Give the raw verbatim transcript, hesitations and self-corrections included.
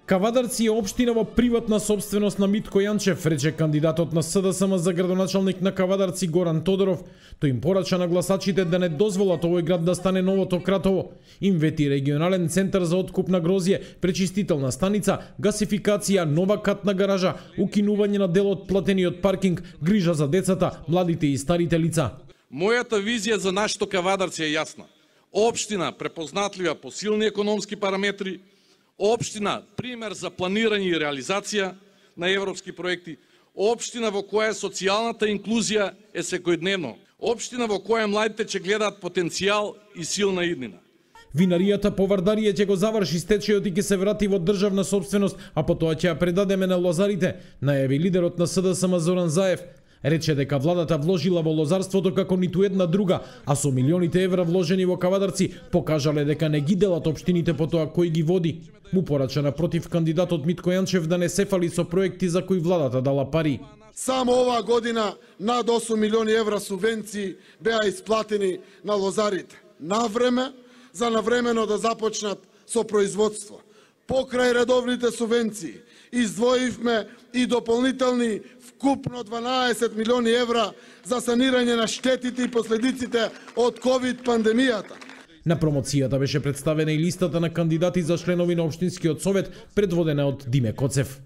Кавадарци е општина во приватна собственост на Митко Јанчев, рече кандидатот на СДСМ за градоначалник на Кавадарци Горан Тодоров. Тој им порача на гласачите да не дозволат овој град да стане новото Кратово. Им вети регионален центар за откуп на грозје, пречистителна станица, гасификација, нова катна гаража, укинување на дел од платениот паркинг, грижа за децата, младите и старите лица. Мојата визија за нашето Кавадарци е јасна. Општина препознатлива по силни економски параметри, општина пример за планирање и реализација на европски проекти, општина во која социјалната инклузија е секојдневно, општина во која младите ќе гледаат потенцијал и силна иднина. Винаријата по Вардарија ќе го заврши стечајот и ќе се врати во државна собственост, а потоа ќе ја предадеме на лозарите, најави лидерот на СДСМ Зоран Заев. Рече дека владата вложила во лозарството како ниту една друга, а со милионите евра вложени во Кавадарци покажале дека не ги делат општините по тоа кој ги води. Му порача напротив кандидатот Митко Јанчев да не се фали со проекти за кои владата дала пари. Само оваа година над осум милиони евра субвенции беа исплатени на лозарите. Навреме, за навремено да започнат со производство. Покрај редовните субвенции издвоивме и дополнителни вкупно дванаесет милиони евра за санирање на штетите и последиците од ковид пандемијата. На промоцијата беше представена и листата на кандидати за членови на општинскиот совет, предводена од Диме Коцев.